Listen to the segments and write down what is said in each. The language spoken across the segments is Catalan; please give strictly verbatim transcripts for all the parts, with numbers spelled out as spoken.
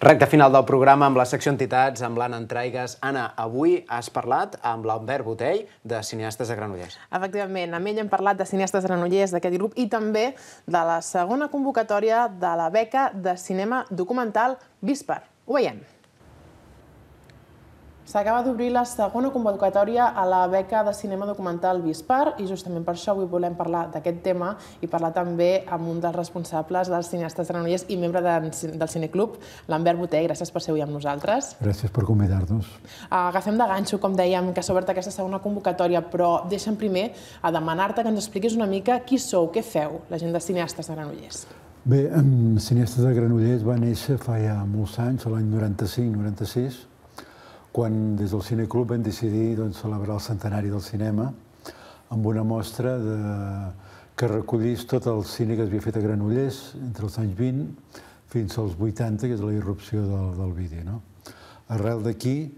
Recte final del programa amb la secció Entitats, amb l'Anna Entraigues. Anna, avui has parlat amb l'Albert Botell, de Cineastes de Granollers. Efectivament, amb ell hem parlat de Cineastes de Granollers, d'aquest grup, i també de la segona convocatòria de la beca de cinema documental Víspar. Ho veiem. S'acaba d'obrir la segona convocatòria a la beca de cinema documental Víspar i justament per això avui volem parlar d'aquest tema i parlar també amb un dels responsables dels Cineastes de Granollers i membre del Cineclub, l'Albert Botell. Gràcies per ser avui amb nosaltres. Gràcies per convidar-nos. Agafem de ganxo, com dèiem, que s'ha obert aquesta segona convocatòria, però deixa'm primer a demanar-te que ens expliquis una mica qui sou, què feu, la gent de Cineastes de Granollers. Bé, Cineastes de Granollers va néixer fa ja molts anys, l'any noranta-cinc noranta-sis, quan des del Cineclub vam decidir celebrar el centenari del cinema amb una mostra que recollís tot el cine que s'havia fet a Granollers entre els anys vint fins als vuitanta, que és la irrupció del vídeo. Arrel d'aquí,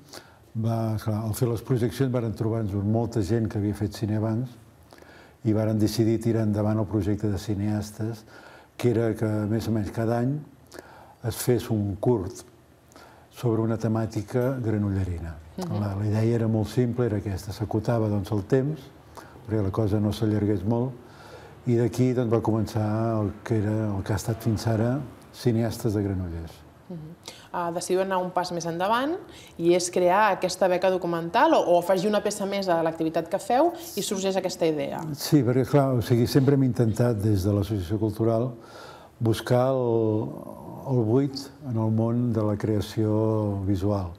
al fer les projeccions, varen trobar-nos molta gent que havia fet cine abans i varen decidir tirar endavant el projecte de cineastes, que era que més o menys cada any es fes un curt sobre una temàtica granollerina. La idea era molt simple, era aquesta, s'acotava el temps, perquè la cosa no s'allargués molt, i d'aquí va començar el que ha estat fins ara Cineastes de Granollers. Decidiu anar un pas més endavant i és crear aquesta beca documental o afegir una peça més a l'activitat que feu i sorgeix aquesta idea. Sí, perquè clar, sempre hem intentat des de l'Associació Cultural buscar el buit en el món de la creació visual.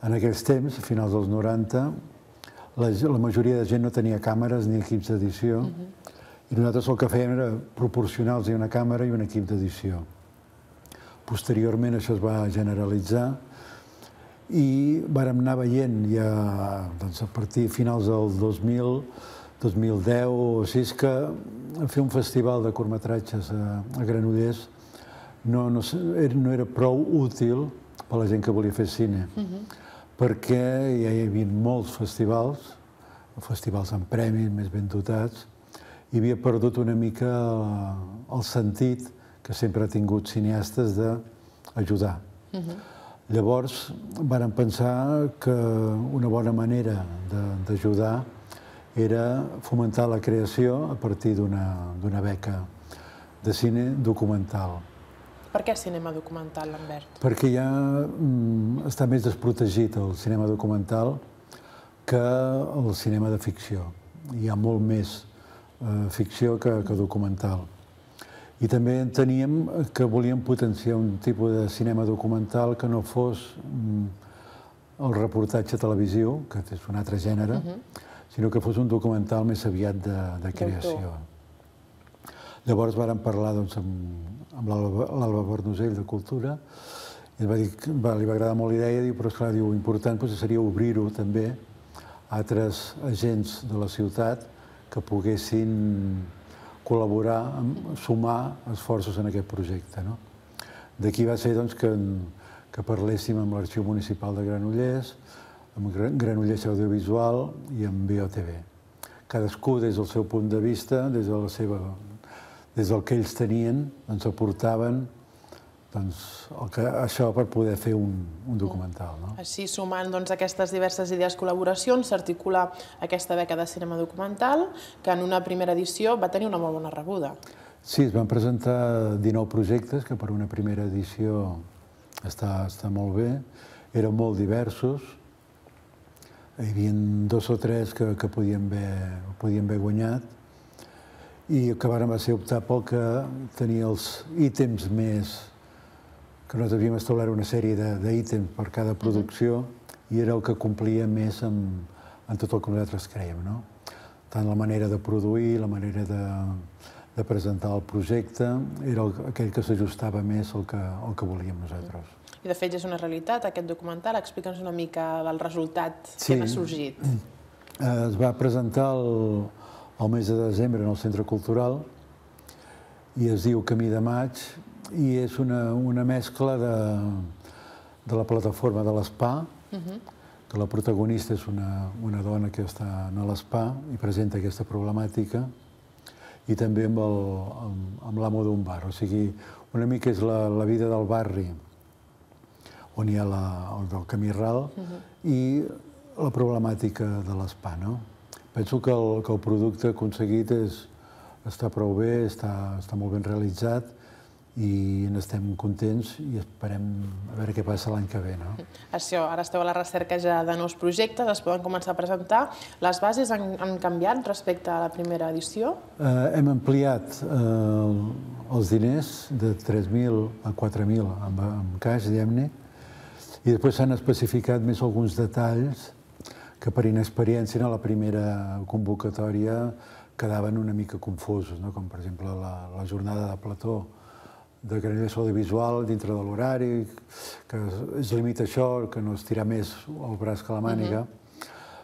En aquells temps, a finals dels noranta, la majoria de gent no tenia càmeres ni equips d'edició i nosaltres el que fèiem era proporcionar-los una càmera i un equip d'edició. Posteriorment això es va generalitzar i vàrem anar veient ja a partir de finals del dos mil, dos mil deu o així, que fer un festival de curtmetratges a Granollers no era prou útil per a la gent que volia fer cine, perquè ja hi havia molts festivals, festivals amb premis més ben dotats, i havia perdut una mica el sentit que sempre ha tingut cineastes d'ajudar. Llavors vàrem pensar que una bona manera d'ajudar era fomentar la creació a partir d'una beca de cine documental. Per què cinema documental, Lambert? Perquè ja està més desprotegit el cinema documental que el cinema de ficció. Hi ha molt més ficció que documental. I també enteníem que volíem potenciar un tipus de cinema documental que no fos el reportatge televisiu, que és un altre gènere, sinó que fos un documental més aviat de creació. Llavors vàrem parlar amb l'Alba Bernosell de Cultura i li va agradar molt la idea, però és clar, l'important seria obrir-ho també a altres agents de la ciutat que poguessin col·laborar, sumar esforços en aquest projecte. D'aquí va ser que parléssim amb l'Arxiu Municipal de Granollers, amb Granollers Audiovisual i amb B O T V. Cadascú des del seu punt de vista, des de la seva des del que ells tenien, ens aportaven això per poder fer un documental. Així, sumant aquestes diverses idees col·laboracions, s'articula aquesta beca de cinema documental, que en una primera edició va tenir una molt bona rebuda. Sí, es van presentar dinou projectes, que per una primera edició està molt bé. Eren molt diversos. Hi havia dos o tres que podien haver guanyat i que va ser optar pel que tenia els ítems més, que nosaltres havíem establert una sèrie d'ítems per cada producció i era el que complia més amb tot el que nosaltres creiem. Tant la manera de produir, la manera de presentar el projecte, era aquell que s'ajustava més al que volíem nosaltres. I de fet és una realitat aquest documental. Explica'ns una mica del resultat que n'ha sorgit. Es va presentar el mes de desembre en el Centre Cultural i es diu Camí de Maig i és una mescla de la plataforma de l'Espa, que la protagonista és una dona que està a l'Espa i presenta aquesta problemàtica, i també amb l'amo d'un bar. O sigui, una mica és la vida del barri on hi ha el del camí ral, i la problemàtica de l'Spa. Penso que el producte aconseguit està prou bé, està molt ben realitzat, i n'estem contents i esperem a veure què passa l'any que ve. Això, ara esteu a la recerca ja de nous projectes, es poden començar a presentar. Les bases han canviat respecte a la primera edició? Hem ampliat els diners de tres mil a quatre mil en caix, diguem-ne, i després s'han especificat més alguns detalls que per inexperiència a la primera convocatòria quedaven una mica confusos, com per exemple la jornada de plató de Granollers Audiovisual dintre de l'horari, que es limita a això, que no es tira més el braç que la màniga,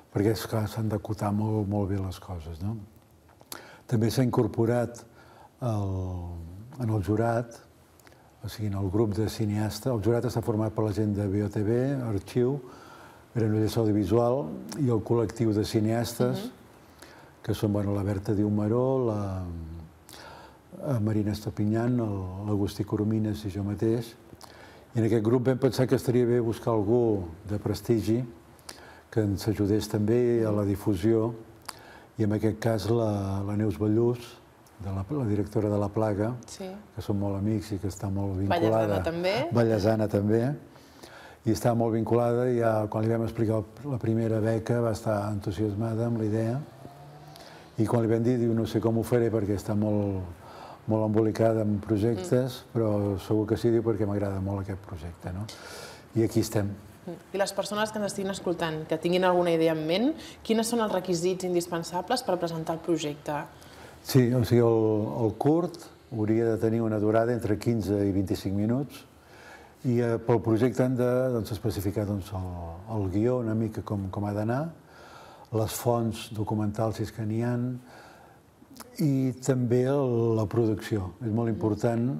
perquè és clar, s'han d'acotar molt bé les coses. També s'ha incorporat en el jurat, o sigui, en el grup de cineastes. El jurat està format per la gent de B O T V, Arxiu, Granollers Audiovisual i el col·lectiu de cineastes, que són la Berta Diumaró, la Marina Estapinyan, l'Agustí Coromines i jo mateix. I en aquest grup vam pensar que estaria bé buscar algú de prestigi que ens ajudés també a la difusió, i en aquest cas la Neus Ballús, la directora de La Plaga, que som molt amics i que està molt vinculada. Vallesana també. Vallesana també. I està molt vinculada, i quan li vam explicar la primera beca va estar entusiasmada amb la idea, i quan li vam dir, diu, no sé com ho faré perquè està molt molt embolicada en projectes, però segur que sí, diu, perquè m'agrada molt aquest projecte. I aquí estem. I les persones que ens estiguin escoltant, que tinguin alguna idea en ment, quines són els requisits indispensables per presentar el projecte? Sí, o sigui, el curt hauria de tenir una durada entre quinze i vint-i-cinc minuts, i pel projecte han d'especificar el guió una mica com ha d'anar, les fonts documentals, si és que n'hi ha, i també la producció. És molt important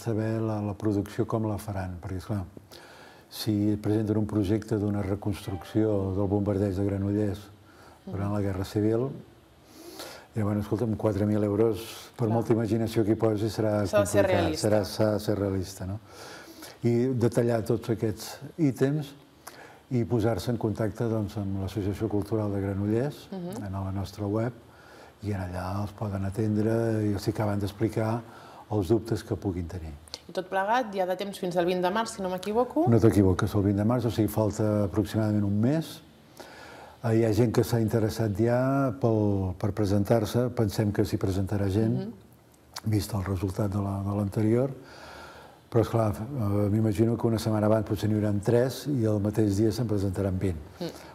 saber la producció com la faran, perquè, esclar, si presenten un projecte d'una reconstrucció del bombardeig de Granollers durant la Guerra Civil, llavors, escolta'm, quatre mil euros, per molta imaginació que hi posi, serà complicat. S'ha de ser realista. I detallar tots aquests ítems i posar-se en contacte amb l'Associació Cultural de Granollers, a la nostra web, i allà els poden atendre i els acaben d'explicar els dubtes que puguin tenir. I tot plegat, hi ha de temps fins al vint de març, si no m'equivoco? No t'equivoques, el vint de març, o sigui, falta aproximadament un mes. Hi ha gent que s'ha interessat ja per presentar-se, pensem que s'hi presentarà gent, vist el resultat de l'anterior, però, esclar, m'imagino que una setmana abans potser n'hi haurà tres i el mateix dia se'n presentaran vint.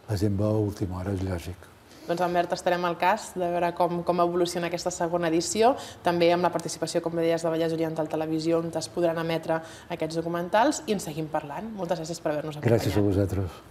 La gent va a última hora, és lògic. Doncs, Albert, estarem al cas de veure com evoluciona aquesta segona edició, també amb la participació, com bé deies, de Vallès Oriental Televisió, on es podran emetre aquests documentals, i en seguim parlant. Moltes gràcies per haver-nos acompanyat. Gràcies a vosaltres.